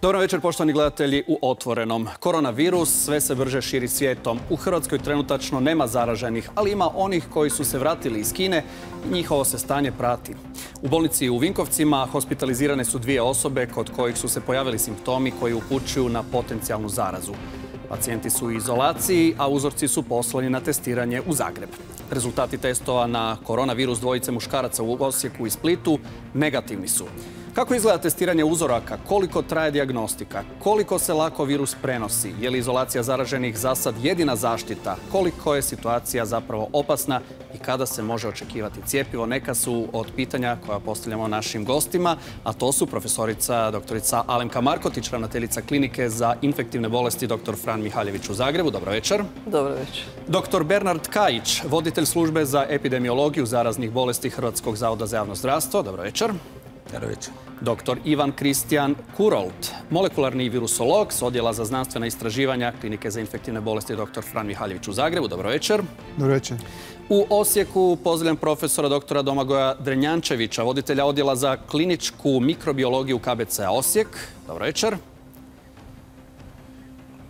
Dobro večer, poštovani gledatelji u Otvorenom. Koronavirus sve se brže širi svijetom. U Hrvatskoj trenutačno nema zaraženih, ali ima onih koji su se vratili iz Kine i njihovo se stanje prati. U bolnici u Vinkovcima hospitalizirane su 2 osobe kod kojih su se pojavili simptomi koji upućuju na potencijalnu zarazu. Pacijenti su u izolaciji, a uzorci su poslani na testiranje u Zagreb. Rezultati testova na koronavirus dvojice muškaraca u Osijeku i Splitu negativni su. Kako izgleda testiranje uzoraka? Koliko traje dijagnostika? Koliko se lako virus prenosi? Je li izolacija zaraženih za sad jedina zaštita? Koliko je situacija zapravo opasna i kada se može očekivati cjepivo? Neka su od pitanja koja postavljamo našim gostima, a to su profesorica doktorica Alemka Markotić, ravnateljica klinike za infektivne bolesti dr. Fran Mihaljević u Zagrebu. Dobro večer. Dobro večer. Dr. Bernard Kajić, voditelj službe za epidemiologiju zaraznih bolesti Hrvatskog zavoda za javno zdravstvo. Dobro večer. Dobro večer. Dr. Ivan Kristijan Kurolt, molekularni virusolog s odjela za znanstvena istraživanja klinike za infektivne bolesti dr. Fran Mihaljević u Zagrebu. Dobro večer. Dobro večer. U Osijeku pozdravljam profesora dr. Domagoja Drenjančevića, voditelja odjela za kliničku mikrobiologiju KBC-a Osijek. Dobro večer.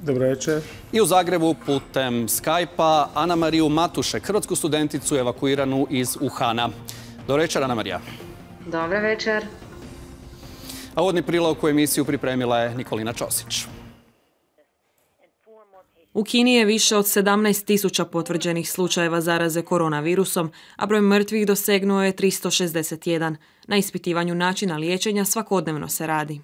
Dobro večer. I u Zagrebu putem Skype-a Ana Mariju Matušek, hrvatsku studenticu evakuiranu iz Uhana. Dobro večer, Ana Marija. Dobro večer. A uvodni prilog u emisiju pripremila je Nikolina Ćosić. U Kini je više od 17.000 potvrđenih slučajeva zaraze koronavirusom, a broj mrtvih dosegnuo je 361. Na ispitivanju načina liječenja svakodnevno se radi.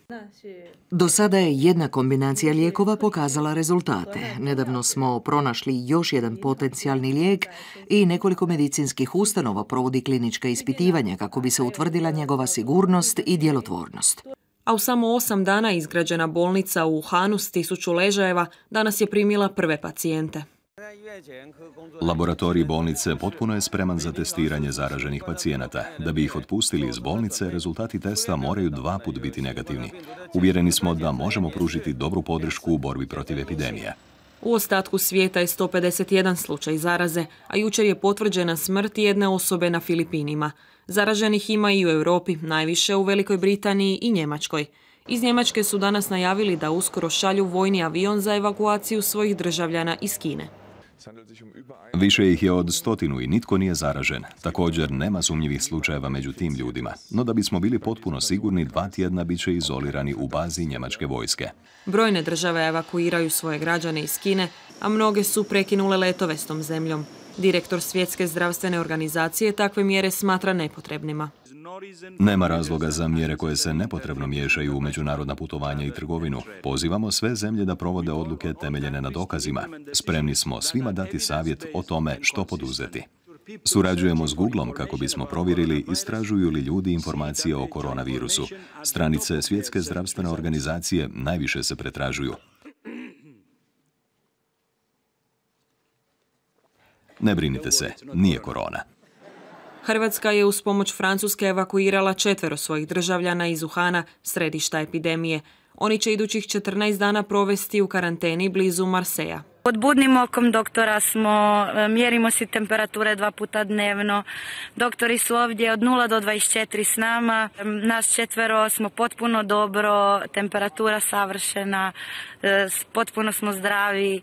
Do sada je jedna kombinacija lijekova pokazala rezultate. Nedavno smo pronašli još jedan potencijalni lijek i nekoliko medicinskih ustanova provodi klinička ispitivanja kako bi se utvrdila njegova sigurnost i djelotvornost. A u samo 8 dana izgrađena bolnica u Uhanu s 1000 ležajeva danas je primila prve pacijente. Laboratorij bolnice potpuno je spreman za testiranje zaraženih pacijenata. Da bi ih otpustili iz bolnice, rezultati testa moraju 2 puta biti negativni. Uvjereni smo da možemo pružiti dobru podršku u borbi protiv epidemije. U ostatku svijeta je 151 slučaj zaraze, a jučer je potvrđena smrt jedne osobe na Filipinima. Zaraženih ima i u Europi, najviše u Velikoj Britaniji i Njemačkoj. Iz Njemačke su danas najavili da uskoro šalju vojni avion za evakuaciju svojih državljana iz Kine. Više ih je od 100 i nitko nije zaražen. Također nema sumnjivih slučajeva među tim ljudima. No da bismo bili potpuno sigurni, 2 tjedna bit će izolirani u bazi njemačke vojske. Brojne države evakuiraju svoje građane iz Kine, a mnoge su prekinule letove s tom zemljom. Direktor Svjetske zdravstvene organizacije takve mjere smatra nepotrebnima. Nema razloga za mjere koje se nepotrebno miješaju u međunarodna putovanja i trgovinu. Pozivamo sve zemlje da provode odluke temeljene na dokazima. Spremni smo svima dati savjet o tome što poduzeti. Surađujemo s Googlom kako bismo provjerili istražuju li ljudi informacije o koronavirusu. Stranice Svjetske zdravstvene organizacije najviše se pretražuju. Ne brinite se, nije korona. Hrvatska je uz pomoć Francuske evakuirala 4 svojih državljana iz Uhana, središta epidemije. Oni će idućih 14 dana provesti u karanteni blizu Marseja. Pod budnim okom doktora smo, mjerimo si temperature 2 puta dnevno. Doktori su ovdje od 0 do 24 s nama. Nas 4 smo potpuno dobro, temperatura savršena, potpuno smo zdravi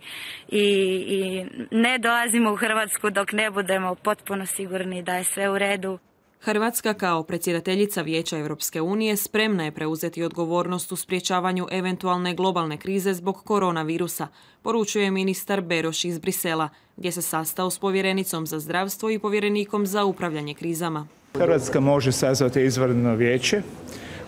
i ne dolazimo u Hrvatsku dok ne budemo potpuno sigurni da je sve u redu. Hrvatska kao predsjedateljica Vijeća Europske unije spremna je preuzeti odgovornost u sprječavanju eventualne globalne krize zbog koronavirusa, poručuje ministar Beroš iz Brisela, gdje se sastao s povjerenicom za zdravstvo i povjerenikom za upravljanje krizama. Hrvatska može sazvati izvanredno vijeće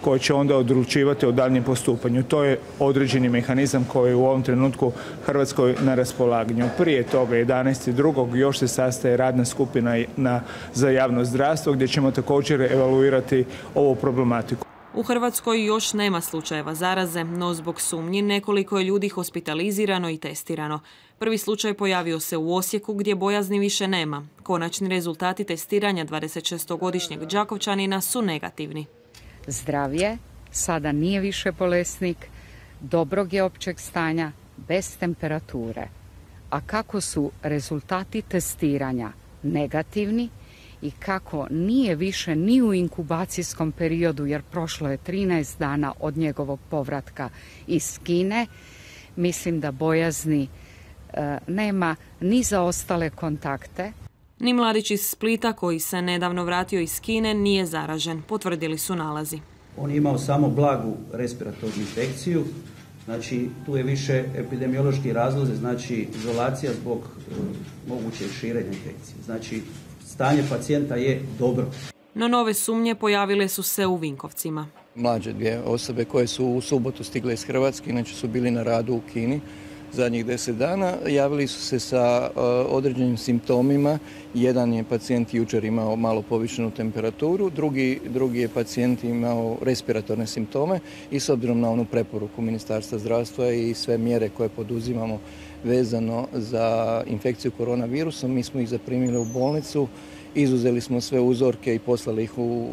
koje će onda odlučivati o daljnjem postupanju. To je određeni mehanizam koji je u ovom trenutku Hrvatskoj na raspolaganju. Prije toga 11.2. još se sastaje radna skupina za javno zdravstvo gdje ćemo također evaluirati ovu problematiku. U Hrvatskoj još nema slučajeva zaraze, no zbog sumnji nekoliko je ljudi hospitalizirano i testirano. Prvi slučaj pojavio se u Osijeku gdje bojazni više nema. Konačni rezultati testiranja 26-godišnjeg Đakovčanina su negativni. Zdrav je, sada nije više bolesnik, dobrog je općeg stanja, bez temperature. A kako su rezultati testiranja negativni i kako nije više ni u inkubacijskom periodu, jer prošlo je 13 dana od njegovog povratka iz Kine, mislim da bojazni nema ni za ostale kontakte. Ni mladić iz Splita koji se nedavno vratio iz Kine nije zaražen, potvrdili su nalazi. On je imao samo blagu respiratornu infekciju, znači tu je više epidemiološki razlozi, znači izolacija zbog mogućeg širenja infekcije. Znači stanje pacijenta je dobro. No nove sumnje pojavile su se u Vinkovcima. Mlađe dvije osobe koje su u subotu stigle iz Hrvatske, inače su bili na radu u Kini zadnjih 10 dana, javili su se sa određenim simptomima. Jedan je pacijent jučer imao malo povišenu temperaturu, drugi je pacijent imao respiratorne simptome i s obzirom na onu preporuku Ministarstva zdravstva i sve mjere koje poduzimamo vezano za infekciju koronavirusom, mi smo ih zaprimili u bolnicu, izuzeli smo sve uzorke i poslali ih u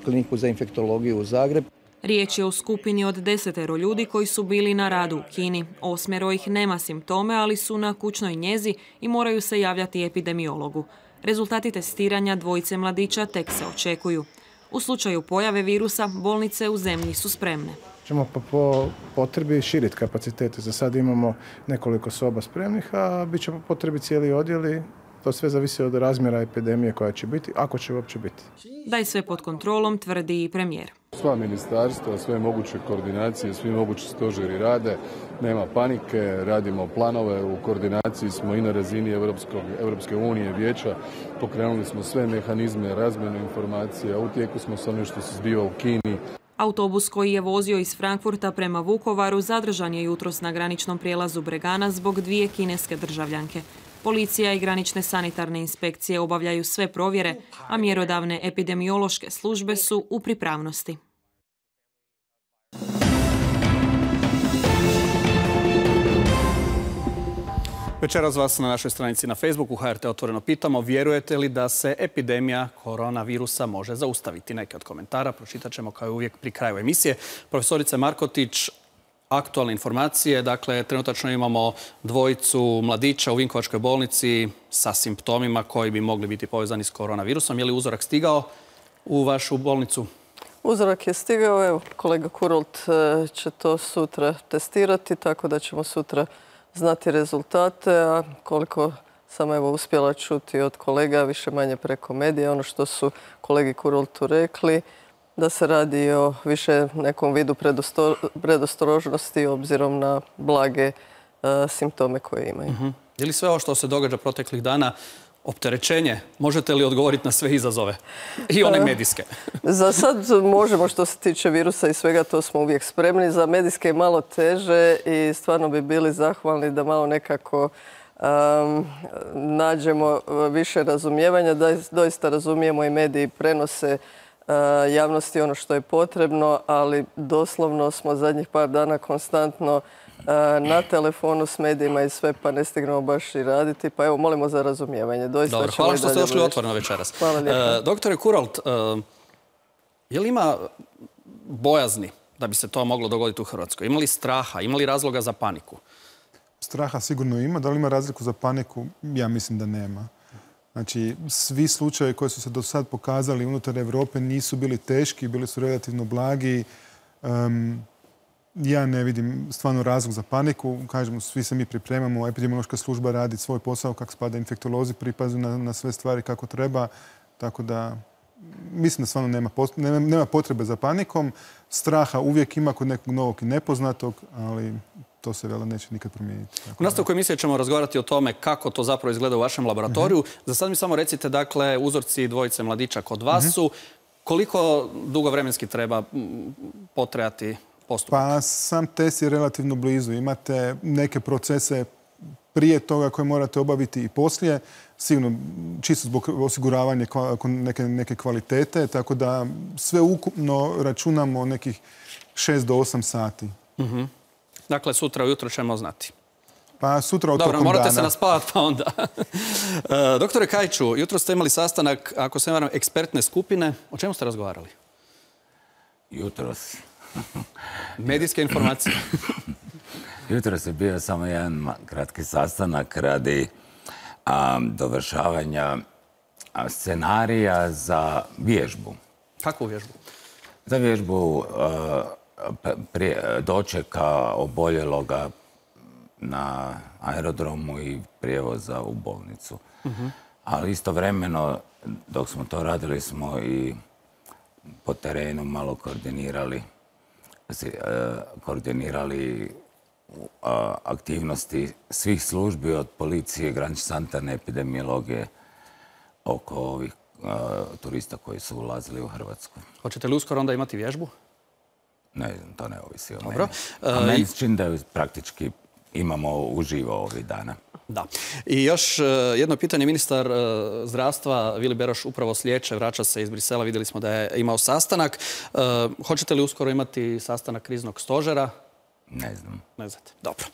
kliniku za infektologiju u Zagreb. Riječ je o skupini od 10 ljudi koji su bili na radu u Kini. 8 ih nema simptome, ali su na kućnoj njezi i moraju se javljati epidemiologu. Rezultati testiranja dvojice mladića tek se očekuju. U slučaju pojave virusa, bolnice u zemlji su spremne. Ćemo po potrebi širiti kapacitete. Za sad imamo nekoliko soba spremnih, a bit će po potrebi cijeli odjeli. To sve zavisi od razmjera epidemije koja će biti, ako će uopće biti. Da je sve pod kontrolom, tvrdi i premijer. Sva ministarstva, sve moguće koordinacije, svi mogući stožeri rade, nema panike, radimo planove, u koordinaciji smo i na razini Europske unije, vijeća, pokrenuli smo sve mehanizme, razmjenu informacija, u tijeku smo s onim što se zbiva u Kini. Autobus koji je vozio iz Frankfurta prema Vukovaru zadržan je jutros na graničnom prijelazu Bregana zbog 2 kineske državljanke. Policija i granične sanitarne inspekcije obavljaju sve provjere, a mjerodavne epidemiološke službe su u pripravnosti. Večeras vas na našoj stranici na Facebooku HRT Otvoreno pitamo, vjerujete li da se epidemija koronavirusa može zaustaviti? Neke od komentara pročitat ćemo kao i uvijek pri kraju emisije. Profesorice Markotić, aktualne informacije. Dakle, trenutačno imamo dvojicu mladića u Vinkovačkoj bolnici sa simptomima koji bi mogli biti povezani s koronavirusom. Je li uzorak stigao u vašu bolnicu? Uzorak je stigao. Evo, kolega Kurult će to sutra testirati, tako da ćemo sutra znati rezultate. A koliko sam uspjela čuti od kolega, više manje preko medija, ono što su kolegi Kurultu rekli, da se radi o više nekom vidu predostrožnosti obzirom na blage simptome koje imaju. Je li sve ovo što se događa proteklih dana opterećenje? Možete li odgovoriti na sve izazove? I one medijske? Za sad možemo, što se tiče virusa i svega, to smo uvijek spremni. Za medijske je malo teže i stvarno bi bili zahvalni da malo nekako nađemo više razumijevanja, da doista razumijemo i mediji prenose javnosti ono što je potrebno, ali doslovno smo zadnjih par dana konstantno na telefonu s medijima i sve, pa ne stignemo baš i raditi. Pa evo, molimo za razumijevanje. Dobro, hvala što ste došli Otvoreno večeras. Hvala lijepo. Doktore Kuralt, je li ima bojazni da bi se to moglo dogoditi u Hrvatskoj? Ima li straha? Ima li razloga za paniku? Straha sigurno ima. Da li ima razliku za paniku? Ja mislim da nema. Znači, svi slučajevi koji su se do sad pokazali unutar Europe nisu bili teški, bili su relativno blagi. Ja ne vidim stvarno razlog za paniku. Kažemo, svi se mi pripremamo, epidemiološka služba radi svoj posao, kako spada infektolozi, pripazu na sve stvari kako treba. Tako da mislim da stvarno nema potrebe za panikom. Straha uvijek ima kod nekog novog i nepoznatog, ali to se vela neće nikad promijeniti. U nastavku emisije ćemo razgovarati o tome kako to zapravo izgleda u vašem laboratoriju. Za sad mi samo recite, dakle, uzorci dvojice mladića kod vas su. Koliko dugo vremenski treba potrajati postupak? Pa sam test je relativno blizu. Imate neke procese prije toga koje morate obaviti i poslije. Sigurno, čisto zbog osiguravanja neke kvalitete, tako da sve ukupno računamo nekih 6 do 8 sati. Dakle, sutra ujutro ćemo znati. Pa sutra od tokom dana. Dobro, morate se naspavati pa onda. Doktore Kajču, jutro ste imali sastanak, ako se ne varam, ekspertne skupine. O čemu ste razgovarali? Jutros. Medijske informacije. Jutros je bio samo jedan kratki sastanak radi dovršavanja scenarija za vježbu. Kakvu vježbu? Za vježbu dočeka oboljeloga na aerodromu i prijevoza u bolnicu. Ali istovremeno, dok smo to radili, smo i po terenu malo koordinirali aktivnosti svih službi od policije, granične sanitarne epidemiologije oko ovih turista koji su ulazili u Hrvatsku. Hoćete li uskoro onda imati vježbu? Ne znam, to ne ovisi o meni. Dobro. A meni se čini da ju praktički imamo uživo ovih dana. Da. I još jedno pitanje. Ministar zdravstva Vili Beroš upravo slijeće, vraća se iz Brisela. Vidjeli smo da je imao sastanak. Hoćete li uskoro imati sastanak kriznog stožera? Ne znam. Ne znate. Dobro.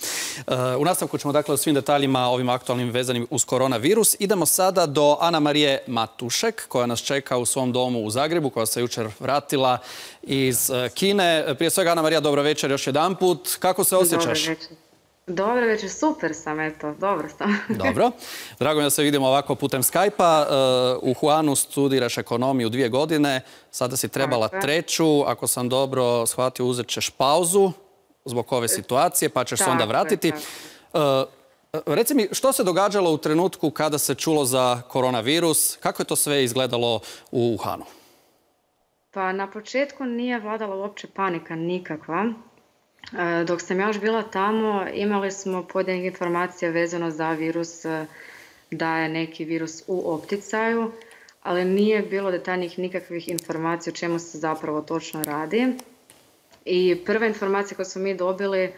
U nastavku ćemo dakle o svim detaljima ovim aktualnim vezanim uz koronavirus. Idemo sada do Ana Marije Matušek, koja nas čeka u svom domu u Zagrebu, koja se jučer vratila iz Kine. Prije svega, Ana Marija, dobro večer još jedanput. Kako se osjećaš? Dobro večer, super sam, eto, dobro sam. Dobro. Drago mi da se vidimo ovako putem Skype-a. U Wuhanu studiraš ekonomiju 2 godine, sada si trebala 3. Ako sam dobro shvatio, uzet ćeš pauzu zbog ove situacije, pa ćeš se onda vratiti. Reci mi, što se događalo u trenutku kada se čulo za koronavirus? Kako je to sve izgledalo u Wuhanu? Pa na početku nije vladala uopće panika nikakva. Dok sam ja još bila tamo, imali smo pojedinih informacija vezano za virus, da je neki virus u opticaju, ali nije bilo detaljnih nikakvih informacija o čemu se zapravo točno radi. I prva informacija koju smo mi dobili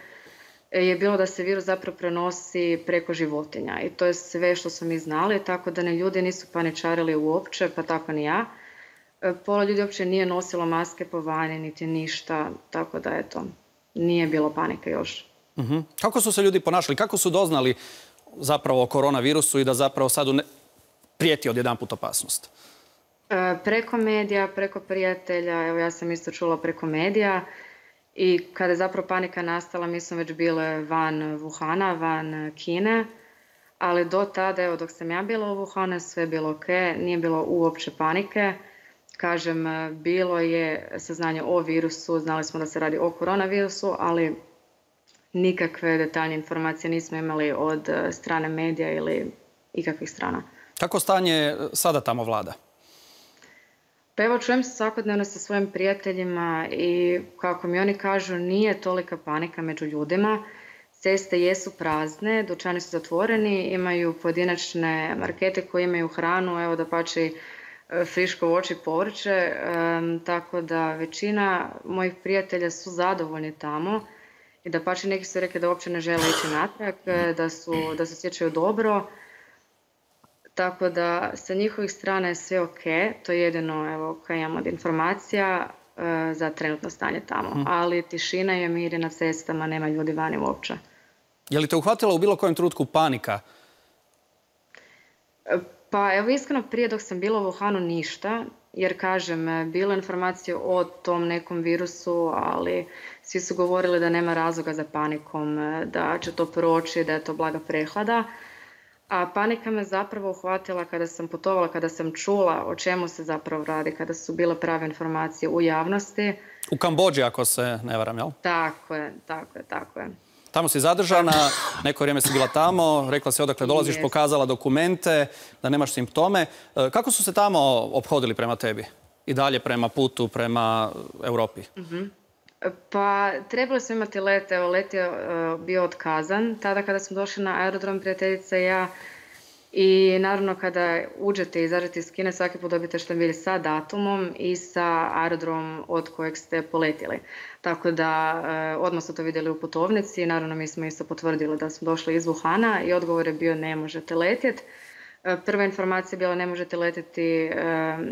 je bilo da se virus zapravo prenosi preko životinja. I to je sve što smo mi znali, tako da ljudi nisu paničarili uopće, pa tako ni ja. Pola ljudi uopće nije nosilo maske po vani, niti ništa, tako da eto, nije bilo panike još. Kako su se ljudi ponašali? Kako su doznali zapravo o koronavirusu i da zapravo sad prijeti odjedanput opasnost? Preko medija, preko prijatelja, evo ja sam isto čula preko medija. I kada je zapravo panika nastala, mi smo već bile van Wuhana, van Kine, ali do tada, evo dok sam ja bila u Wuhanu, sve je bilo ok, nije bilo uopće panike. Kažem, bilo je saznanje o virusu, znali smo da se radi o koronavirusu, ali nikakve detaljne informacije nismo imali od strane medija ili ikakvih strana. Kako stanje sada tamo vlada? Pa evo, čujem se svakodnevno sa svojim prijateljima i kako mi oni kažu, nije tolika panika među ljudima. Ceste jesu prazne, dućani su zatvoreni, imaju pojedinačne markete koje imaju hranu, evo da pači friško voće i povrće, tako da većina mojih prijatelja su zadovoljni tamo i da pači neki su rekli da uopće ne žele ići natrag, da se osjećaju dobro. Tako da sa njihovih strana je sve ok, to je jedino evo, kad imamo od informacija za trenutno stanje tamo. Ali tišina je, mir je na cestama, nema ljudi vani uopće. Je li te uhvatila u bilo kojem trenutku panika? Pa evo iskreno prije dok sam bila u Wuhanu ništa, jer kažem, bilo informacije o tom nekom virusu, ali svi su govorili da nema razloga za panikom, da će to proći, da je to blaga prehlada. A panika me zapravo uhvatila kada sam putovala, kada sam čula o čemu se zapravo radi, kada su bile prave informacije u javnosti. U Kambodži, ako se ne varam, jel? Tako je. Tamo si zadržana, neko vrijeme si bila tamo, rekla si odakle dolaziš, pokazala dokumente, da nemaš simptome. Kako su se tamo ophodili prema tebi? I dalje prema putu, prema Europi? Pa trebali smo imati let, evo let je bio otkazan. Tada kada smo došli na aerodrom, prijateljica i ja, i naravno kada uđete i izađete iz Kine, svaki put dobijete štambilj sa datumom i sa aerodromom od kojeg ste poletjeli. Tako da odmah su to vidjeli u putovnici i naravno mi smo isto potvrdili da smo došli iz Wuhana i odgovor je bio ne možete letjeti. Prva informacija je bila ne možete letjeti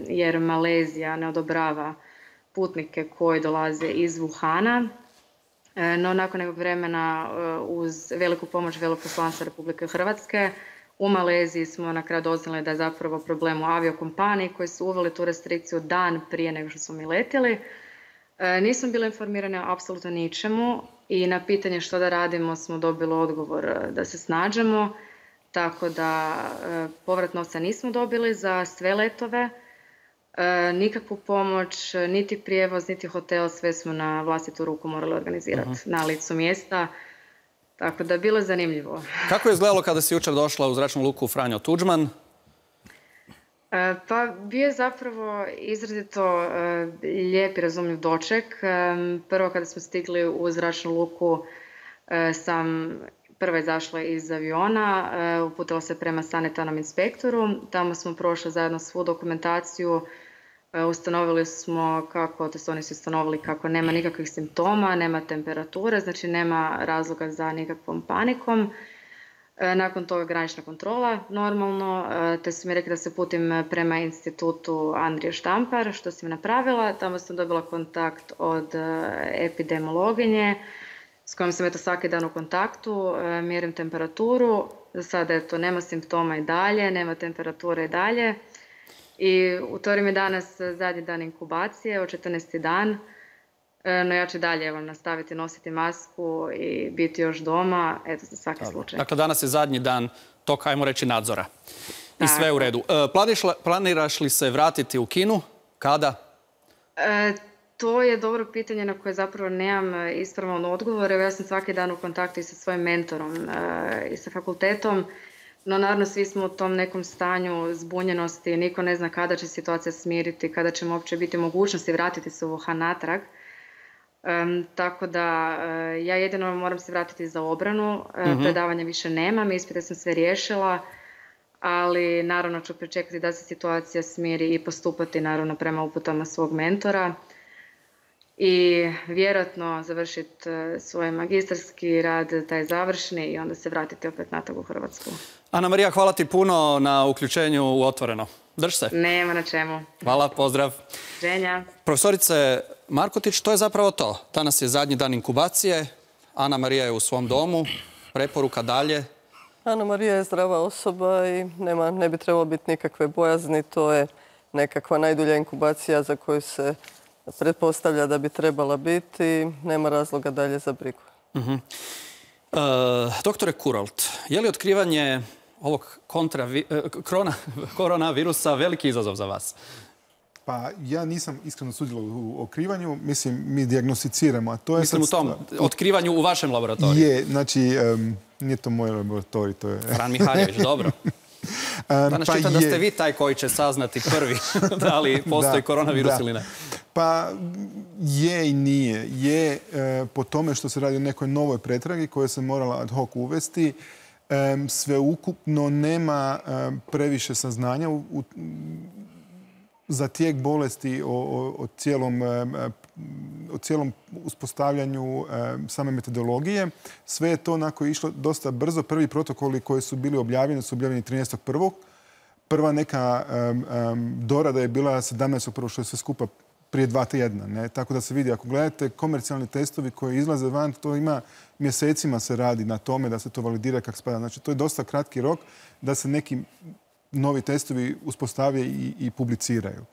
jer Malezija ne odobrava putnike koji dolaze iz Wuhana, no nakon nekog vremena uz veliku pomoć veleposlanstva Republike Hrvatske u Maleziji smo na kraju doznali da je zapravo problem u aviokompaniji koji su uveli tu restrikciju dan prije nego što smo mi letjeli. Nismo bili informirani o apsolutno ničemu i na pitanje što da radimo smo dobili odgovor da se snađemo. tako da povrat novca nismo dobili za sve letove, nikakvu pomoć, niti prijevoz, niti hotel, sve smo na vlastitu ruku morali organizirati na licu mjesta. Tako da je bilo zanimljivo. Kako je izgledalo kada si jučer došla u zračnu luku Franjo Tuđman? Pa bio je zapravo izrazito lijep i razumljiv doček. Prvo kada smo stigli u zračnu luku sam prva izašla iz aviona, uputila se prema sanitarnom inspektoru. Tamo smo prošli zajedno svu dokumentaciju. Ustanovili smo oni su ustanovili kako nema nikakvih simptoma, nema temperature, znači nema razloga za nikakvom panikom. Nakon toga granična kontrola, normalno, te su mi rekli da se putim prema institutu Andrije Štampar, što sam napravila. Tamo sam dobila kontakt od epidemiologinje, s kojom sam svaki dan u kontaktu, mjerim temperaturu. Za sada nema simptoma i dalje, nema temperature i dalje. I utori mi danas zadnji dan inkubacije, 14. dan. No ja ću dalje nastaviti nositi masku i biti još doma, za svaki slučaj. Dakle, danas je zadnji dan tog, ajmo reći, nadzora. I sve je u redu. Planiraš li se vratiti u Kinu? Kada? To je dobro pitanje na koje zapravo nemam ispravan odgovor. Ja sam svaki dan u kontaktu i sa svojim mentorom i sa fakultetom. No, naravno, svi smo u tom nekom stanju zbunjenosti. Niko ne zna kada će situacija smiriti, kada ćemo uopće biti mogućnosti vratiti se u Wuhan natrag. Tako da ja jedino moram se vratiti za obranu. Predavanja više nemam, ispite sam sve riješila, ali naravno ću pričekati da se situacija smiri i postupati naravno prema uputama svog mentora i vjerojatno završiti svoj magistarski rad, taj završni, i onda se vratiti opet natrag u Hrvatsku. Ana Marija, hvala ti puno na uključenju u Otvoreno. Drž se. Nema na čemu. Hvala, pozdrav. Ženja. Profesorice Markotić, to je zapravo to. Danas je zadnji dan inkubacije. Ana Marija je u svom domu. Preporuka dalje. Ana Marija je zdrava osoba i ne bi trebalo biti nikakve bojazni. To je nekakva najdulja inkubacija za koju se pretpostavlja da bi trebala biti. Nema razloga dalje za brigu. Doktore Kurolt, je li otkrivanje ovog koronavirusa veliki izazov za vas? Pa ja nisam iskreno sudjelovao u otkrivanju. Mislim, mi dijagnosticiramo. Mislim u tom otkrivanju u vašem laboratoriju? Je, znači, nije to moj laboratorij, to je... Fran Mihaljević, dobro. Danas čitam da ste vi taj koji će saznati prvi da li postoji koronavirus ili ne. Pa je i nije. Je po tome što se radi o nekoj novoj pretragi koja se morala ad hoc uvesti. Sveukupno nema previše saznanja za tijek bolesti o cijelom uspostavljanju same metodologije. Sve je to onako išlo dosta brzo. Prvi protokoli koji su bili objavljeni su objavljeni 13.1. Prva neka dorada je bila 17.1. što je sve skupa prije 2 tjedna. Tako da se vidi, ako gledate komercijalni testovi koji izlaze van, to ima mjesecima se radi na tome da se to validira kako spada. Znači, to je dosta kratki rok da se neki novi testovi uspostave i publiciraju.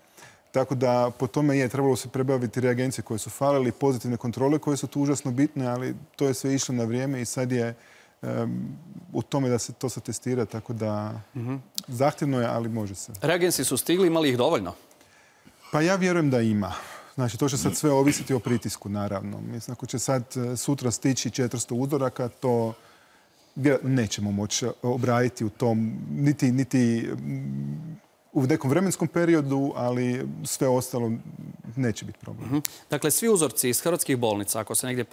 Tako da po tome trebalo se prebaviti reagencije koje su falili, pozitivne kontrole koje su tu užasno bitne, ali to je sve išlo na vrijeme i sad je u tome da se to se testira, tako da zahtjevno je, ali može se. Reagenci su stigli, imali ih dovoljno? Pa ja vjerujem da ima. Znači, to će sad sve ovisiti o pritisku, naravno. Mislim, ako će sad sutra stići 400 uzoraka, to nećemo moći obraditi u tom, niti u nekom vremenskom periodu, ali sve ostalo neće biti problem. Dakle, svi uzorci iz hrvatskih bolnica, ako se negdje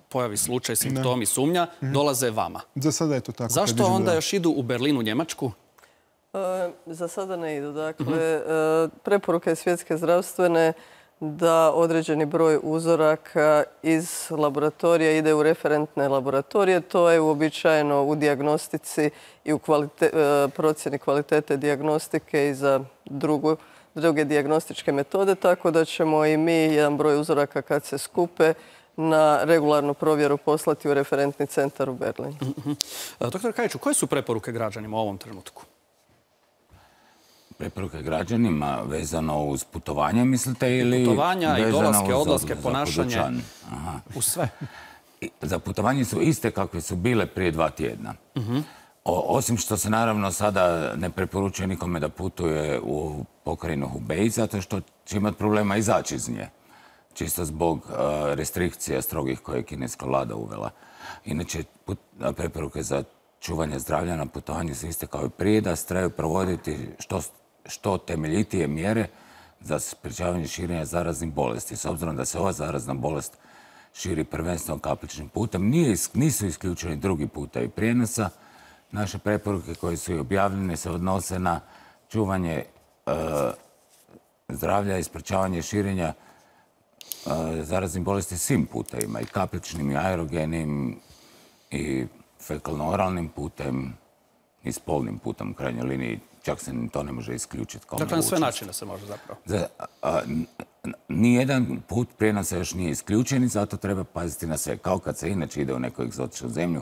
pojavi slučaj, simptomi, sumnja, dolaze vama. Za sada je to tako. Zašto onda još idu u Berlin, u Njemačku? Za sada ne idu. Dakle, preporuke Svjetske zdravstvene da određeni broj uzoraka iz laboratorija ide u referentne laboratorije. To je uobičajeno u dijagnostici i u procjeni kvalitete dijagnostike i za druge dijagnostičke metode, tako da ćemo i mi jedan broj uzoraka kad se skupe na regularnu provjeru poslati u referentni centar u Berlin. Doktor Kajiću, koje su preporuke građanima u ovom trenutku? Preporuke građanima vezano uz putovanje, mislite, ili... Putovanja i dolaske, odlaske, ponašanje, u sve. Za putovanje su iste kakve su bile prije 2 tjedna. Osim što se naravno sada ne preporučuje nikome da putuje u pokrajinu Hubei, zato što će imati problema izaći iz nje. Čisto zbog restrikcija strogih koje je kineska vlada uvela. Inače, preporuke za čuvanje zdravlja na putovanju su iste kao i prije, da se trebaju provoditi što temeljitije mjere za sprječavanje širenja zaraznih bolesti. S obzirom da se ova zarazna bolest širi prvenstveno kapličnim putem, nisu isključeni drugi putevi prijenosa. Naše preporuke koje su i objavljene se odnose na čuvanje zdravlja i sprječavanje širenja zaraznih bolesti svim putevima, i kapličnim, i aerogenim, i fekalno-oralnim putem, i spolnim putem u krajnjoj liniji. Čak se to ne može isključiti kao mogućnost. Dakle, na sve načine se može zapravo. Nijedan put prijenosa još nije isključen i zato treba paziti na sve. Kao kad se inače ide u neku egzotičnu zemlju,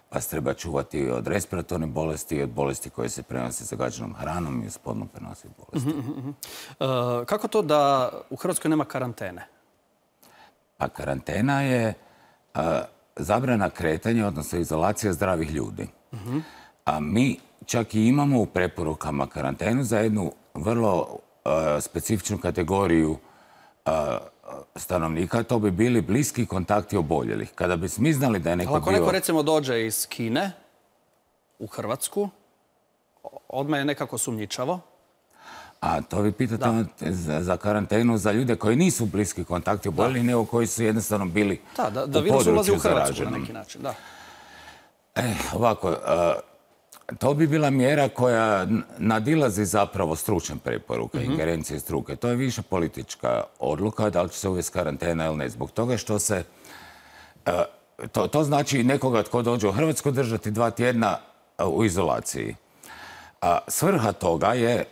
pa se treba čuvati od respiratornih bolesti i od bolesti koje se prenose zagađenom hranom i od spolno prenosivih bolesti. Kako to da u Hrvatskoj nema karantene? Pa karantena je zabrana kretanja, odnosno izolacija zdravih ljudi. A mi čak i imamo u preporukama karantenu za jednu vrlo specifičnu kategoriju stanovnika, to bi bili bliski kontakti oboljelih. Kada bi mi znali da je neko bio... Ako neko recimo dođe iz Kine u Hrvatsku, odmah je nekako sumnjičavo. A to vi pitate za karantenu za ljude koji nisu bliski kontakti oboljelih, nego koji su jednostavno bili u području zaraženom. Da virus ulazi u Hrvatsku na neki način, da. Ovako, to bi bila mjera koja nadilazi zapravo stručne preporuke, ingerencije struke. To je više politička odluka da li će se uvesti karantena ili ne. Zbog toga što se... To znači nekoga tko dođe u Hrvatsku držati 2 tjedna u izolaciji. Svrha toga je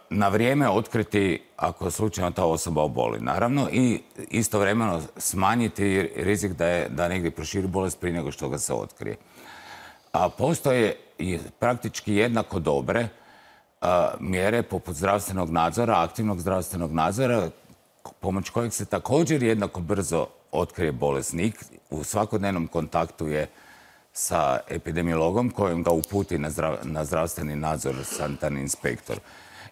na vrijeme otkriti ako slučajno ta osoba oboli. Naravno, i istovremeno smanjiti rizik da negdje proširi bolest prije nego što ga se otkrije. A postoje i praktički jednako dobre mjere poput zdravstvenog nadzora, aktivnog zdravstvenog nadzora, pomoć kojeg se također jednako brzo otkrije bolesnik. U svakodnevnom kontaktu je sa epidemiologom kojim ga uputi na zdravstveni nadzor sanitarni inspektor.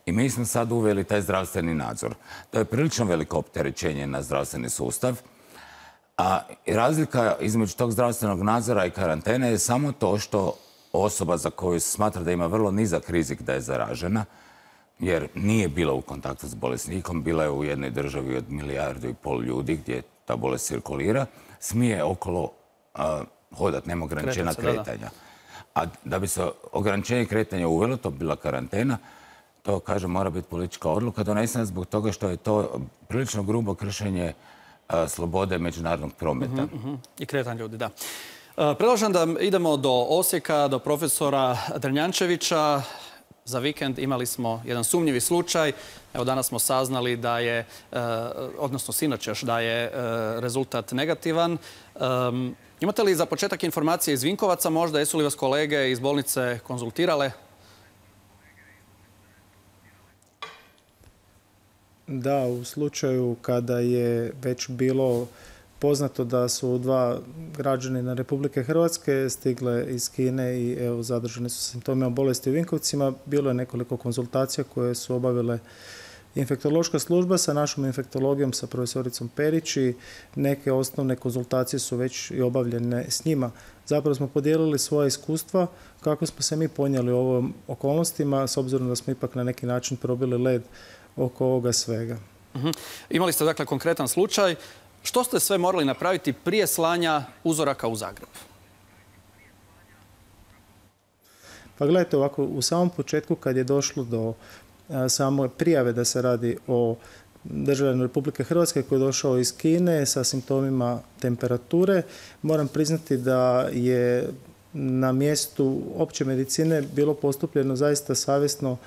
I mi smo sad uveli taj zdravstveni nadzor. To je prilično veliko opterećenje na zdravstveni sustav. A razlika između tog zdravstvenog nadzora i karantene je samo to što osoba za koju se smatra da ima vrlo nizak rizik da je zaražena, jer nije bila u kontaktu s bolesnikom, bila je u jednoj državi od 1,5 milijardu ljudi gdje ta bolest cirkulira, smije okolo hodati, nema ograničenja kretanja. A da bi se ograničenje kretanja uvelo, to bi bila karantena, to, kažem, mora biti politička odluka donesena zbog toga što je to prilično grubo kršenje slobode međunarodnog prometa. I kretanja ljudi, da. Predlažem da idemo do Osijeka, do profesora Drnjančevića. Za vikend imali smo jedan sumnjivi slučaj. Evo, danas smo saznali da je, odnosno sinoć još, da je rezultat negativan. Imate li za početak informacije iz Vinkovaca možda? Jesu li vas kolege iz bolnice konzultirale? Da, u slučaju kada je već bilo poznato da su 2 građanina Republike Hrvatske stigle iz Kine i evo, zadržani su simptomima bolesti u Vinkovcima, bilo je nekoliko konzultacija koje su obavile infektološka služba sa našom infektologijom, sa profesoricom Perić, i neke osnovne konzultacije su već i obavljene s njima. Zapravo smo podijelili svoje iskustva kako smo se mi ponijeli u ovim okolnostima, s obzirom da smo ipak na neki način probili led oko ovoga svega. Imali ste dakle konkretan slučaj. Što ste sve morali napraviti prije slanja uzoraka u Zagreb? Pa gledajte, ovako, u samom početku kad je došlo do same prijave da se radi o državljaninu Republike Hrvatske koji je došao iz Kine sa simptomima temperature, moram priznati da je na mjestu opće medicine bilo postupljeno zaista savjesno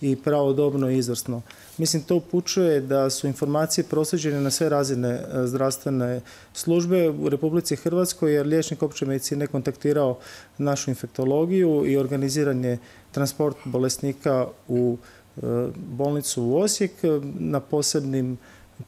i pravodobno i izvrsno. Mislim, to upućuje da su informacije proslijeđene na sve razine zdravstvene službe u Republici Hrvatskoj, jer liječnik opće medicine kontaktirao našu infektologiju i organiziran je transport bolesnika u bolnicu u Osijek na posebnim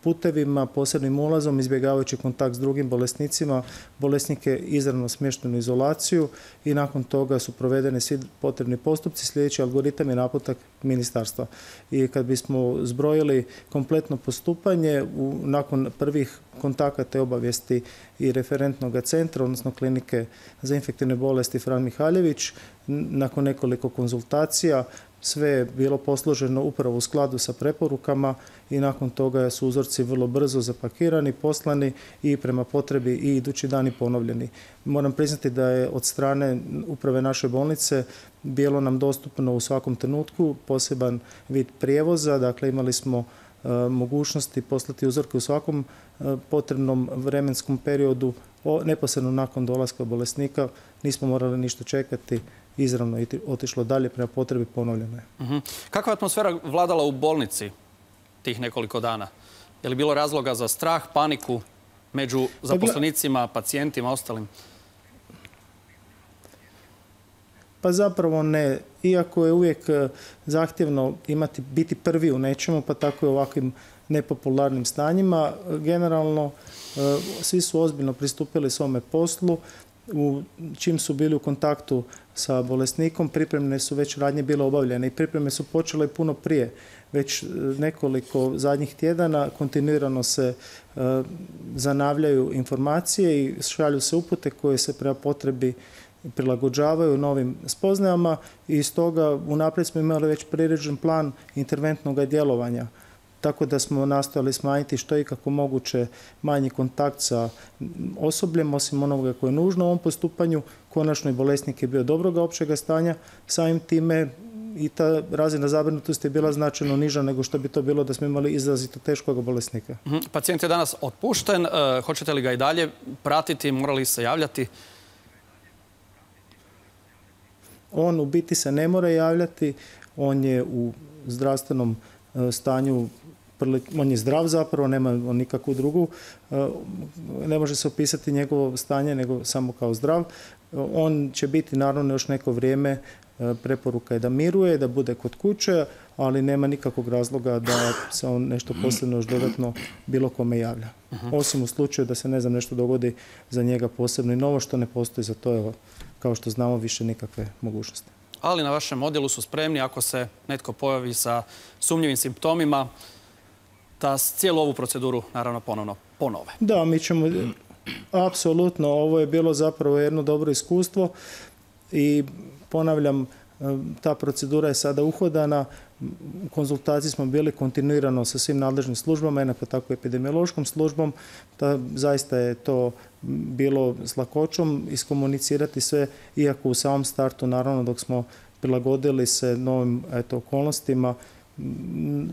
putevima, posebnim ulazom, izbjegavajući kontakt s drugim bolesnicima, bolesnike izravno smještenu u izolaciju i nakon toga su provedeni svi potrebni postupci. Sljedeći algoritam je naputak ministarstva. I kad bismo zbrojili kompletno postupanje, nakon prvih kontakata i obavijesti i referentnog centra, odnosno klinike za infektivne bolesti Fran Mihaljević, nakon nekoliko konzultacija, sve je bilo posloženo upravo u skladu sa preporukama i nakon toga su uzorci vrlo brzo zapakirani, poslani i prema potrebi i idući dani ponovljeni. Moram priznati da je od strane uprave naše bolnice bilo nam dostupno u svakom trenutku poseban vid prijevoza, dakle imali smo mogućnosti poslati uzorke u svakom potrebnom vremenskom periodu, neposredno nakon dolaska bolesnika, nismo morali ništa čekati, izravno i otišlo dalje prema potrebi, ponovljeno je. Kakva je atmosfera vladala u bolnici tih nekoliko dana? Je li bilo razloga za strah, paniku među zaposlenicima, pacijentima, ostalim? Pa zapravo ne. Iako je uvijek zahtjevno biti prvi u nečemu, pa tako i u ovakvim nepopularnim stanjima, generalno svi su ozbiljno pristupili svome poslu. Čim su bili u kontaktu sa bolesnikom, pripremne su već radnje bile obavljene i pripreme su počele puno prije. Već nekoliko zadnjih tjedana kontinuirano se zanavljaju informacije i šalju se upute koje se prema potrebi prilagođavaju novim spoznajama i stoga unaprijed smo imali već priređen plan interventnog djelovanja. Tako da smo nastojali smanjiti što je kako moguće manji kontakt sa osobljem, osim onoga koje je nužno u ovom postupanju. Konačno i bolesnik je bio dobroga općega stanja, samim time i ta razina zabrinutosti je bila značajno niža nego što bi to bilo da smo imali izrazito teškog bolesnika. Pacijent je danas otpušten. Hoćete li ga i dalje pratiti? Morali se javljati? On u biti se ne mora javljati. On je u zdravstvenom stanju, on je zdrav zapravo, nema nikakvu drugu, ne može se opisati njegovo stanje nego samo kao zdrav. On će biti naravno još neko vrijeme, preporuka je da miruje, da bude kod kuće, ali nema nikakvog razloga da se on nešto posebno još dodatno bilo kome javlja. Osim u slučaju da se nešto dogodi za njega posebno i novo, što ne postoji za to, evo, kao što znamo, više nikakve mogućnosti. Ali na vašem odjelu su spremni ako se netko pojavi sa sumnjivim simptomima da cijelu ovu proceduru naravno ponovno ponove. Da, mi ćemo, apsolutno, ovo je bilo zapravo jedno dobro iskustvo i ponavljam, ta procedura je sada uhodana. U konzultaciji smo bili kontinuirano sa svim nadležnim službama, jednako tako i epidemiološkom službom. Zaista je to bilo s lakoćom iskomunicirati sve, iako u samom startu, naravno, dok smo prilagodili se novim okolnostima,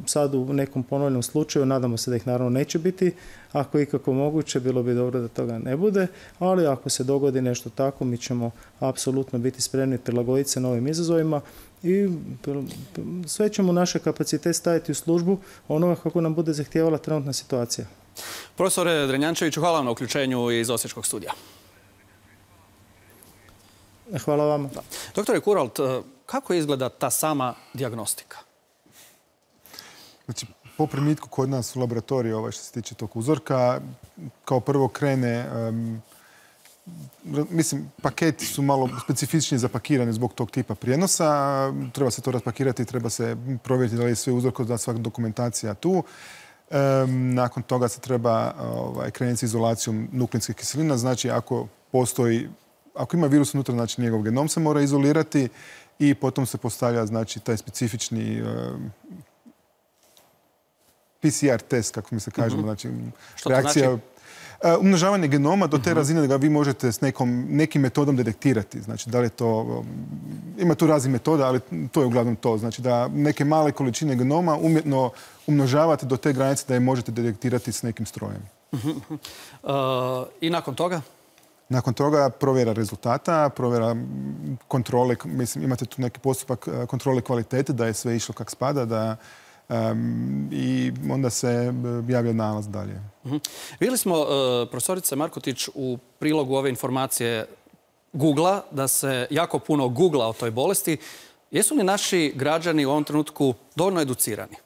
sad u nekom ponovljenom slučaju, nadamo se da ih naravno neće biti, ako ikako moguće, bilo bi dobro da toga ne bude, ali ako se dogodi nešto tako, mi ćemo apsolutno biti spremni prilagoditi se novim izazovima i sve ćemo naše kapacitet staviti u službu onoga kako nam bude zahtijevala trenutna situacija. Profesore Drenjančeviću, hvala vam na uključenju iz Osječkog studija. Hvala vama. Doktore Kuralt, kako izgleda ta sama dijagnostika? Znači, po primitku kod nas u laboratoriju, što se tiče tog uzorka, kao prvo krene, mislim, paketi su malo specifičnije zapakirani zbog tog tipa prijenosa. Treba se to raspakirati, treba se provjeriti da li je sve uzorko, da svaka dokumentacija tu. Nakon toga se treba krenuti s izolacijom nukleinskih kiselina. Znači, ako ima virus unutra, znači njegov genom se mora izolirati i potom se postavlja, znači, taj specifični PCR test, kako mi se kažemo, znači reakcija, umnožavanje genoma do te razine da ga vi možete s nekim metodom detektirati. Znači, da li je to, ima tu raznih metoda, ali to je uglavnom to. Znači, da neke male količine genoma umjetno umnožavate do te granice da je možete detektirati s nekim strojem. I nakon toga? Nakon toga provjera rezultata, provjera kontrole, mislim, imate tu neki postupak kontrole kvalitete, da je sve išlo kak spada, i onda se javlja nalaz dalje. Vidjeli smo, profesorice Markotić, u prilogu ove informacije Google-a, da se jako puno googla o toj bolesti. Jesu li naši građani u ovom trenutku dovoljno educirani?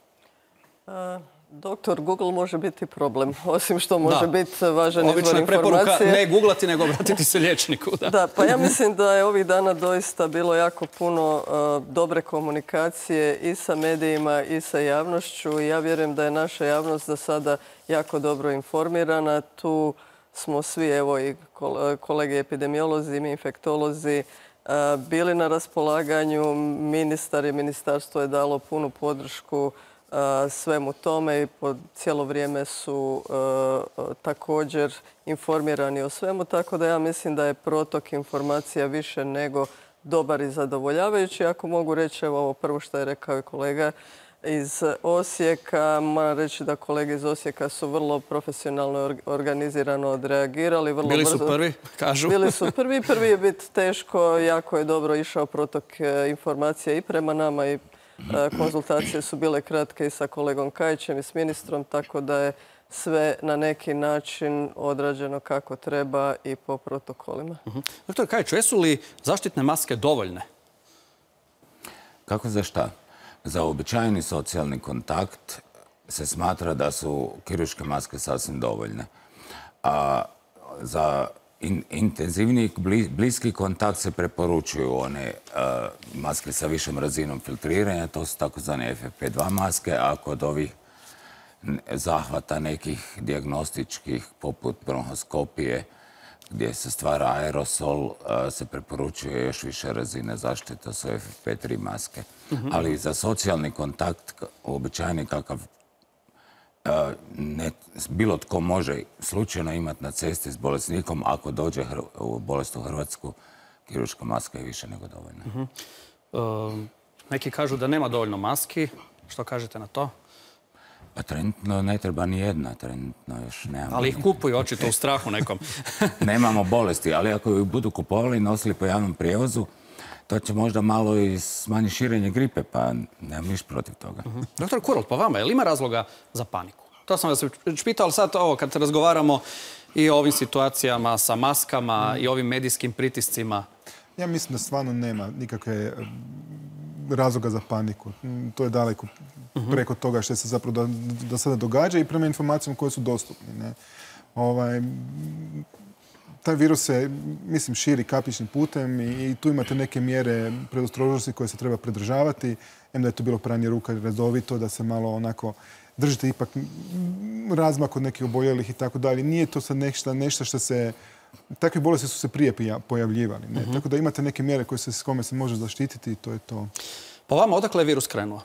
Doktor Google može biti problem, osim što može biti važan izvor informacije. Obično je preporuka ne googlati, nego obratiti se liječniku. Da, pa ja mislim da je ovih dana doista bilo jako puno dobre komunikacije i sa medijima i sa javnošću. Ja vjerujem da je naša javnost za sada jako dobro informirana. Tu smo svi, evo i kolege epidemiolozi i infektolozi, bili na raspolaganju. Ministar i ministarstvo je dalo punu podršku svemu tome i po cijelo vrijeme su također informirani o svemu, tako da ja mislim da je protok informacija više nego dobar i zadovoljavajući. Ako mogu reći, evo ovo prvo što je rekao i kolega iz Osijeka, moram reći da kolege iz Osijeka su vrlo profesionalno organizirano odreagirali. Bili su prvi, kažu. Bili su prvi. Prvi je biti teško, jako je dobro išao protok informacija i prema nama i konzultacije su bile kratke i sa kolegom Kajićem i s ministrom, tako da je sve na neki način odrađeno kako treba i po protokolima. Doktor Kajić, jesu li zaštitne maske dovoljne? Kako za šta? Za uobičajeni socijalni kontakt se smatra da su kirurške maske sasvim dovoljne. A za intenzivniji bliski kontakt se preporučuju one maske sa višom razinom filtriranja, to su takozvane FFP2 maske, a kod ovih zahvata nekih dijagnostičkih poput bronhoskopije gdje se stvara aerosol, se preporučuje još više razine zaštite, to su FFP3 maske. Ali za socijalni kontakt, uobičajeni kakav bilo tko može slučajno imati na cesti s bolesnikom, ako dođe bolest u Hrvatsku, kirurška maska je više nego dovoljna. Neki kažu da nema dovoljno maski. Što kažete na to? Pa trenutno ne treba ni jedna, trenutno još nemamo. Ali ih kupuju očito u strahu nekom. Nemamo bolesti, ali ako ih budu kupovali i nosili po javnom prijevozu, to će možda malo i smanjiti širenje gripe, pa nemam ništa protiv toga. Doktor Kuralt, pa vama, je li ima razloga za paniku? To sam vas već pitao, ali sad ovo, kad razgovaramo i o ovim situacijama sa maskama i ovim medijskim pritiscima. Ja mislim da stvarno nema nikakve razloga za paniku. To je daleko preko toga što se zapravo do sada događa i prema informacijama koje su dostupne. Taj virus se, mislim, širi kapičnim putem i tu imate neke mjere predostrožnosti koje se treba pridržavati. Da je to bilo pranje ruka redovito, da se malo onako držite ipak razmak od nekih oboljelih i tako dalje. Nije to sad nešto što se... Takve bolesti su se prije pojavljivali. Tako da imate neke mjere s kome se može zaštititi i to je to. Po vama, odakle je virus krenuo?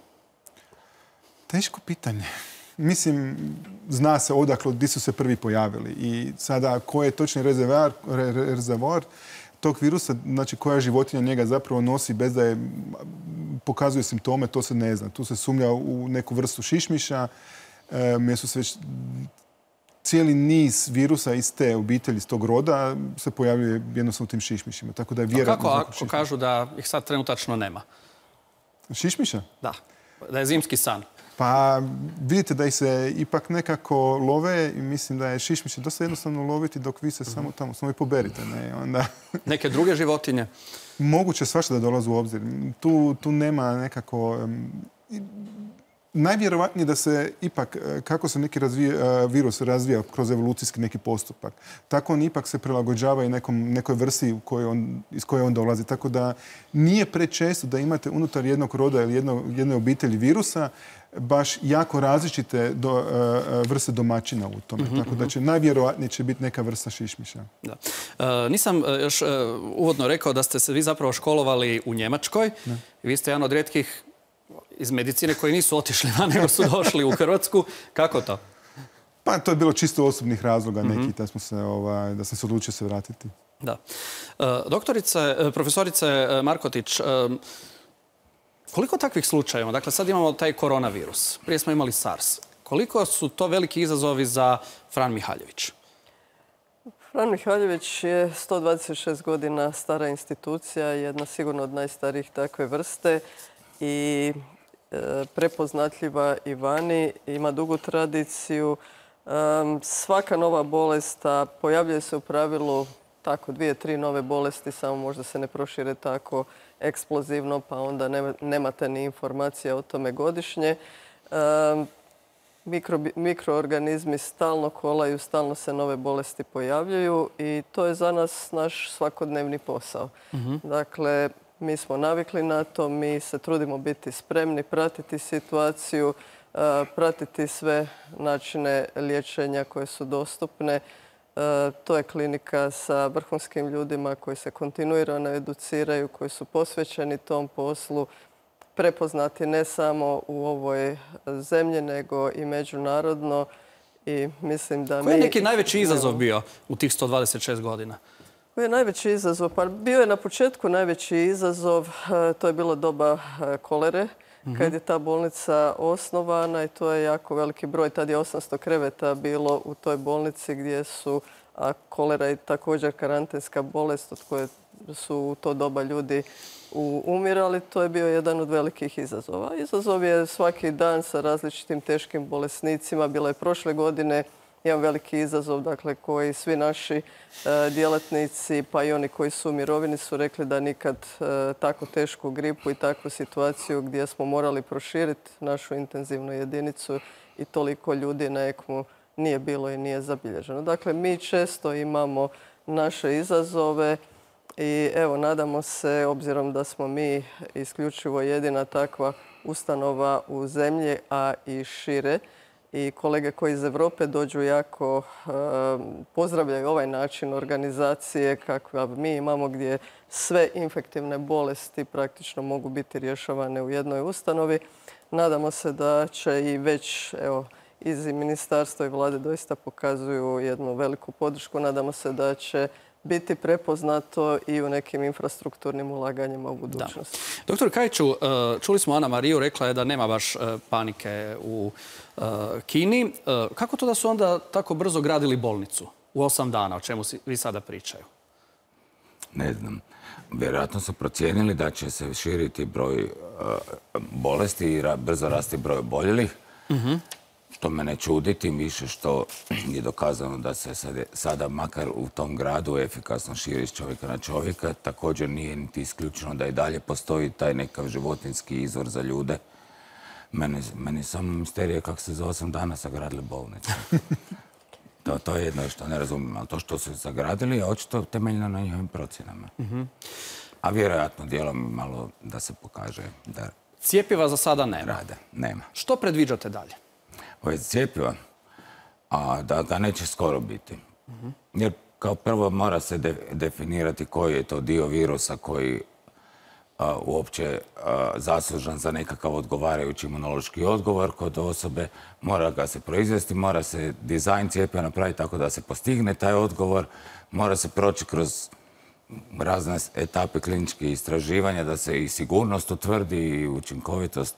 Teško pitanje. Mislim, zna se odakle, gdje su se prvi pojavili. I sada, koji je točni rezervoar tog virusa, znači koja životinja njega zapravo nosi bez da pokazuje simptome, to se ne zna. Tu se sumnja u neku vrstu šišmiša, jer su se već cijeli niz virusa iz te obitelji, iz tog roda, se pojavljuje jednostavno u tim šišmišima. Tako da je vjerojatno... Kako ako kažu da ih sad trenutačno nema? Šišmiša? Da, da je zimski san. Pa vidite da ih se ipak nekako love i mislim da je šišmiše dosta jednostavno loviti dok vi se samo tamo, samo i poberite. Onda... Neke druge životinje? Moguće svašta da dolazi u obzir. Tu nema nekako... Najvjerovatnije da se ipak, kako se neki virus razvija kroz evolucijski neki postupak, tako on ipak se prilagođava i nekoj vrsti iz koje on dolazi. Tako da nije prečesto da imate unutar jednog roda ili jedne obitelji virusa baš jako različite vrste domaćina u tome. Tako da će najvjerovatnije će biti neka vrsta šišmiša. Nisam još uvodno rekao da ste se vi zapravo školovali u Njemačkoj. Vi ste jedan od rijetkih iz medicine koji nisu otišli van, nego su došli u Hrvatsku. Kako to? Pa to je bilo čisto osobnih razloga neki da sam se odlučio se vratiti. Da. Profesorice Markotić, koliko takvih slučajeva? Dakle, sad imamo taj koronavirus. Prije smo imali SARS. Koliko su to veliki izazovi za Fran Mihaljević? Fran Mihaljević je 126 godina stara institucija, jedna sigurno od najstarijih takve vrste i prepoznatljiva i vani, ima dugu tradiciju. Svaka nova bolest pojavljuje se u pravilu tako 2-3 nove bolesti, samo možda se ne prošire tako eksplozivno, pa onda nemate ni informacija o tome godišnje. mikroorganizmi stalno kolaju, stalno se nove bolesti pojavljuju i to je za nas naš svakodnevni posao. Dakle, mi smo navikli na to, mi se trudimo biti spremni, pratiti situaciju, pratiti sve načine liječenja koje su dostupne. To je klinika sa vrhunskim ljudima koji se kontinuirano educiraju, koji su posvećeni tom poslu, prepoznati ne samo u ovoj zemlji, nego i međunarodno. I mislim da Koji je neki najveći izazov bio u tih 126 godina? Koji je najveći izazov? Pa bio je na početku najveći izazov, to je bilo doba kolere, kad je ta bolnica osnovana i to je jako veliki broj. Tad je 800 kreveta bilo u toj bolnici gdje su, a kolera je također karantenska bolest od koje su u to doba ljudi umirali. To je bio jedan od velikih izazova. Izazov je svaki dan sa različitim teškim bolesnicima. Bilo je prošle godine jedan veliki izazov, dakle, koji svi naši djelatnici, pa i oni koji su u mirovini, su rekli da nikad tako tešku gripu i takvu situaciju gdje smo morali proširiti našu intenzivnu jedinicu i toliko ljudi na ECMO nije bilo i nije zabilježeno. Dakle, mi često imamo naše izazove i evo, nadamo se, obzirom da smo mi isključivo jedina takva ustanova u zemlji, a i šire, i kolege koji iz Europe dođu jako pozdravljaju ovaj način organizacije kakva mi imamo, gdje sve infektivne bolesti praktično mogu biti rješavane u jednoj ustanovi. Nadamo se da će i već, evo, iz ministarstva i vlade doista pokazuju jednu veliku podršku. Nadamo se da će biti prepoznato i u nekim infrastrukturnim ulaganjima u budućnosti. Doktor Kajiću, čuli smo Ana Mariju, rekla je da nema baš panike u Kini. Kako to da su onda tako brzo gradili bolnicu u 8 dana, o čemu vi sada pričaju? Ne znam. Vjerojatno su procijenili da će se širiti broj bolesti i brzo rasti broj oboljelih. Što me ne čudi, tim više što je dokazano da se sada makar u tom gradu efikasno širi s čovjeka na čovjeka. Također nije niti isključeno da i dalje postoji taj nekav životinjski izvor za ljude. Meni je samo misterija kako se za 8 dana sagradili bolnicu. To je jedno što ne razumijem, ali to što su sagradili je očito temeljno na njihovim procjenama. A vjerojatno dijelom malo da se pokaže da Cijepiva za sada nema. Rade. Nema. Što predviđate dalje? Ovo cijepiva, a da ga neće skoro biti. Jer kao prvo mora se definirati koji je to dio virusa koji uopće zaslužan za nekakav odgovarajući imunološki odgovor kod osobe. Mora ga se proizvesti, mora se dizajn cijepiva napraviti tako da se postigne taj odgovor. Mora se proći kroz razne etape kliničkih istraživanja da se i sigurnost utvrdi i učinkovitost.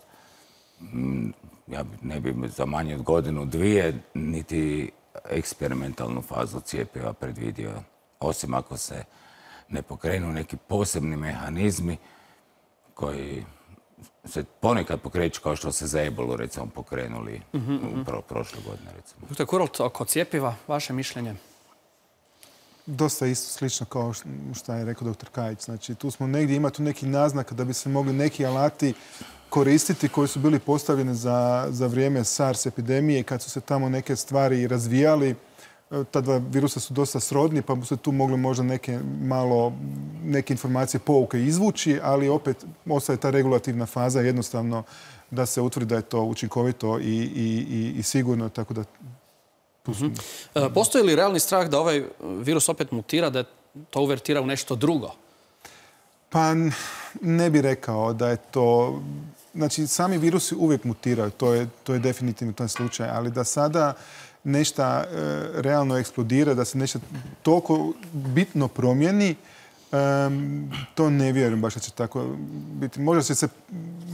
Ja ne bi za manje od godinu, dvije, niti eksperimentalnu fazu cijepiva predvidio. Osim ako se ne pokrenu neki posebni mehanizmi koji se ponekad pokreću kao što se za ebolu, recimo, pokrenuli prošle godine, recimo. Dr. Kuralt, oko cijepiva, vaše mišljenje? Dosta isto slično kao što je rekao dr. Kajić. Znači, tu smo negdje, ima tu neki naznak da bi se mogli neki alati koristiti koji su bili postavljeni za vrijeme SARS epidemije, kad su se tamo neke stvari razvijali. Ta dva virusa su dosta srodni, pa bi se tu mogli možda neke informacije, pouke izvući, ali opet ostaje ta regulativna faza jednostavno da se utvrdi da je to učinkovito i sigurno, tako da... Postoji li realni strah da ovaj virus opet mutira, da to uvertira u nešto drugo? Pa ne bih rekao da je to... Znači, sami virusi uvijek mutiraju, to je definitivno taj slučaj, ali da sada nešto realno eksplodira, da se nešto toliko bitno promijeni, to ne vjerujem baš da će tako biti. Možda će se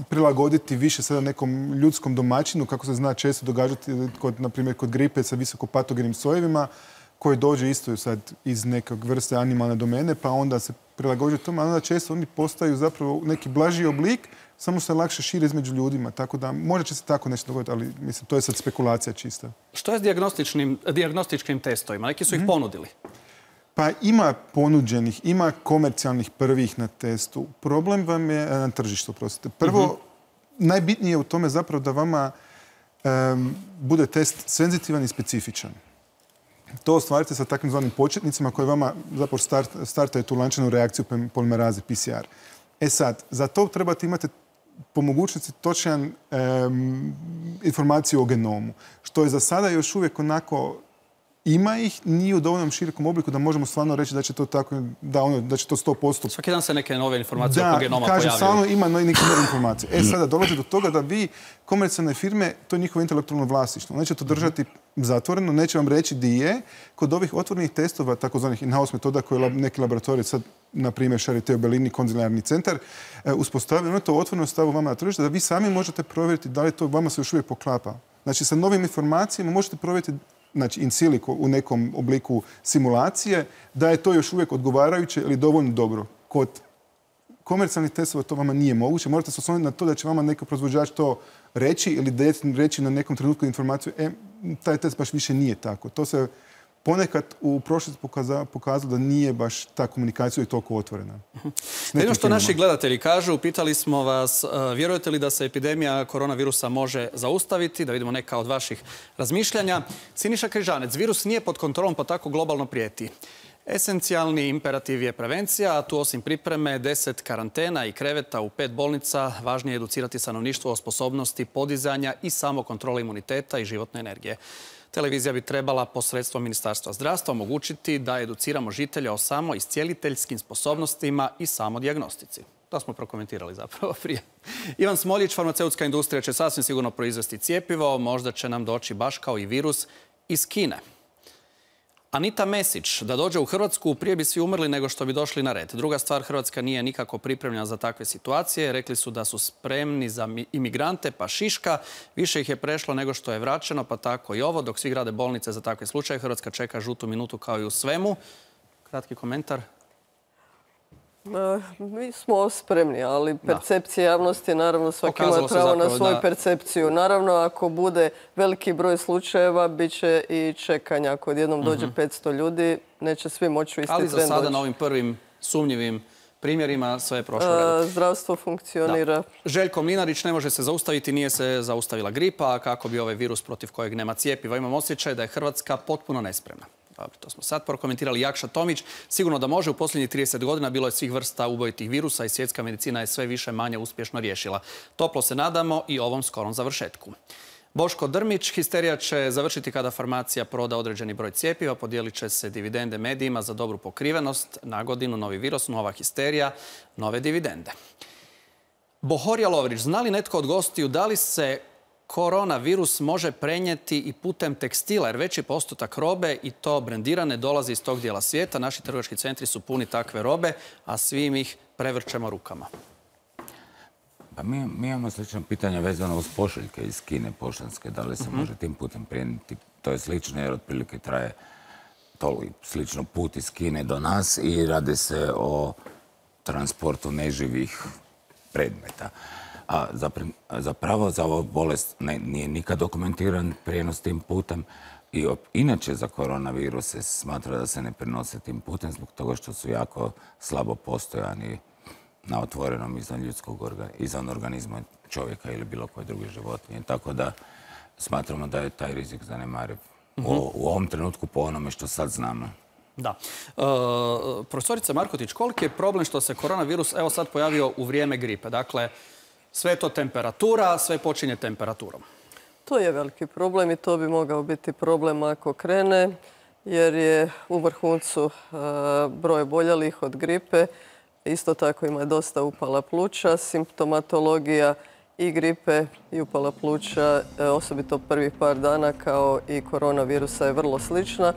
prilagoditi više sada nekom ljudskom domaćinu, kako se zna često događati, na primjer kod gripe sa visokopatogenim sojevima, koji dođe isto sad iz nekog vrste animalne domene, pa onda se prilagođuje tome, a onda često oni postaju zapravo neki blaži oblik, samo se lakše širi između ljudima. Tako da možda će se tako nešto dogoditi, ali mislim, to je sad spekulacija čista. Što je s dijagnostičkim testovima? Neki su ih ponudili. Pa ima ponuđenih, ima komercijalnih prvih na testu. Problem vam je na tržištu, prostite. Prvo, najbitnije je u tome zapravo da vama bude test senzitivan i specifičan. To ostvarite sa takvim zvanim početnicima koji vama zapravo startaju tu lančanu reakciju polimeraze PCR. Sad, za to trebate imati po mogućnosti točan informaciju o genomu, što je za sada još uvijek onako ima ih, nije u dovoljnom širokom obliku da možemo stvarno reći da će to tako, da će to 100%. Svaki dan se neke nove informacije oko genoma pojavljaju. Da, kažem, stvarno ima neke nove informacije. Sada dolazi do toga da vi, komercijalne firme, to je njihovo intelektualno vlasništvo. Neće to držati zatvoreno, neće vam reći di je. Kod ovih otvorenih testova, takozvanih in-house metoda koje neki laboratorij, sad, na primjer, Charité u Berlini, konzilijarni centar, uspostavljaju, ono to otvoreno stavu vama na tržište, da vi sami možete provjeriti da li to vama se još uvijek poklapa. Znači, sa novim informacijama možete provjeriti, znači in silico u nekom obliku simulacije, da je to još uvijek odgovarajuće ili dovoljno dobro. Kod komercijalnih testova to vama nije moguće. Morate se osloniti na to da će vama neki proizvođač to reći ili reći na nekom trenutku informaciju, taj test baš više nije tako. To se ponekad u prošlosti pokazalo da nije baš ta komunikacija i toliko otvorena. Jedno što naši gledatelji kažu, pitali smo vas, vjerujete li da se epidemija koronavirusa može zaustaviti? Da vidimo neka od vaših razmišljanja. Siniša Križanec, virus nije pod kontrolom pa tako globalno prijeti. Esencijalni imperativ je prevencija, a tu osim pripreme 10 karantena i kreveta u 5 bolnica, važnije je educirati stanovništvo o sposobnosti podizanja i samokontrole imuniteta i životne energije. Televizija bi trebala posredstvom Ministarstva zdravstva omogućiti da educiramo žitelja o samoiscijeliteljskim sposobnostima i samodijagnostici. To smo prokomentirali zapravo prije. Ivan Smoljić, farmaceutska industrija će sasvim sigurno proizvesti cjepivo, možda će nam doći baš kao i virus iz Kine. Anita Mesić, da dođe u Hrvatsku, prije bi svi umrli nego što bi došli na red. Druga stvar, Hrvatska nije nikako pripremljena za takve situacije. Rekli su da su spremni za imigrante, pa šiška. Više ih je prešlo nego što je vraćeno, pa tako i ovo. Dok svi grade bolnice za takve slučaje, Hrvatska čeka žutu minutu kao i u svemu. Kratki komentar. Mi smo spremni, ali percepcija javnosti, naravno, svaki ima pravo na svoju percepciju. Naravno, ako bude veliki broj slučajeva, bit će i čekanja. Ako odjednom dođe 500 ljudi, neće svi moći u isti tren doći. Ali za sada na ovim prvim sumnjivim primjerima sve je prošlo redu. Zdravstvo funkcionira. Željko Mlinarić, ne može se zaustaviti, nije se zaustavila gripa, kako bi ovaj virus protiv kojeg nema cjepiva. Imam osjećaj da je Hrvatska potpuno nespremna. Dobro, to smo sad prokomentirali. Jakša Tomić, sigurno da može. U posljednjih 30 godina bilo je svih vrsta ubojitih virusa i svjetska medicina je sve više manje uspješno riješila. Toplo se nadamo i ovom skorom završetku. Boško Drmić, histerija će završiti kada farmacija proda određeni broj cjepiva, podijelit će se dividende medijima za dobru pokrivenost. Na godinu novi virus, nova histerija, nove dividende. Bohorija Lovrić, zna li netko od gostiju da li se koronavirus može prenijeti i putem tekstila, jer veći postotak robe i to brendirane dolazi iz tog dijela svijeta. Naši trgovački centri su puni takve robe, a svim ih prevrćemo rukama. Pa mi imamo slično pitanje vezano uz pošiljke iz Kine poštanske. Da li se može tim putem prenijeti? To je slično jer otprilike traje slično put iz Kine do nas i radi se o transportu neživih predmeta. A zapravo za ovu bolest nije nikad dokumentiran prijenos tim putem i inače za koronavirus se smatra da se ne prenose tim putem zbog toga što su jako slabo postojani na otvorenom izvan organizma čovjeka ili bilo koje druge životinje. Tako da smatramo da je taj rizik zanemariv u ovom trenutku po onome što sad znamo. Da. Profesorica Markotić, koliki je problem što se koronavirus evo sad pojavio u vrijeme gripe? Dakle, sve je to temperatura, sve počinje temperaturom. To je veliki problem i to bi mogao biti problem ako krene, jer je u vrhuncu broj oboljelih od gripe. Isto tako ima dosta upala pluća, simptomatologija i gripe i upala pluća, osobito prvih par dana kao i koronavirusa je vrlo slična.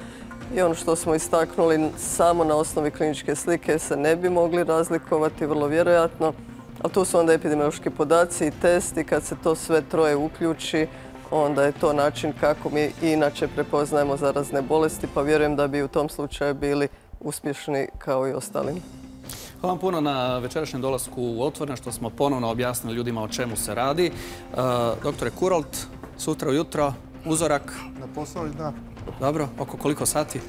I ono što smo istaknuli, samo na osnovi kliničke slike se ne bi mogli razlikovati, vrlo vjerojatno. Ali tu su onda epidemiološki podaci i testi. Kad se to sve troje uključi, onda je to način kako mi inače prepoznajemo zarazne bolesti, pa vjerujem da bi u tom slučaju bili uspješni kao i ostalim. Hvala vam puno na večerašnjem dolasku u Otvoreno, što smo ponovno objasnili ljudima o čemu se radi. Doktore Kurolt, sutra ujutro, uzorak. Na posao, da. Dobro, oko koliko sati?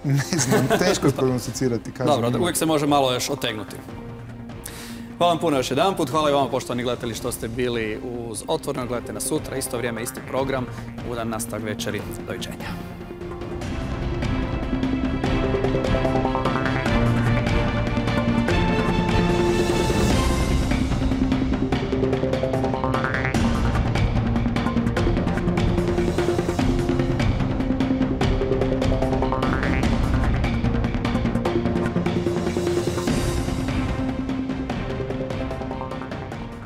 Ne znam, teško je prognosticirati. Dobro, uvijek se može malo još otegnuti. Hvala vam puno još jedan put. Hvala i vama, poštovani gledatelji, što ste bili uz Otvoreno. Gledajte nas sutra, isto vrijeme, isti program. Ugodan nastavak večeri. Doviđenja.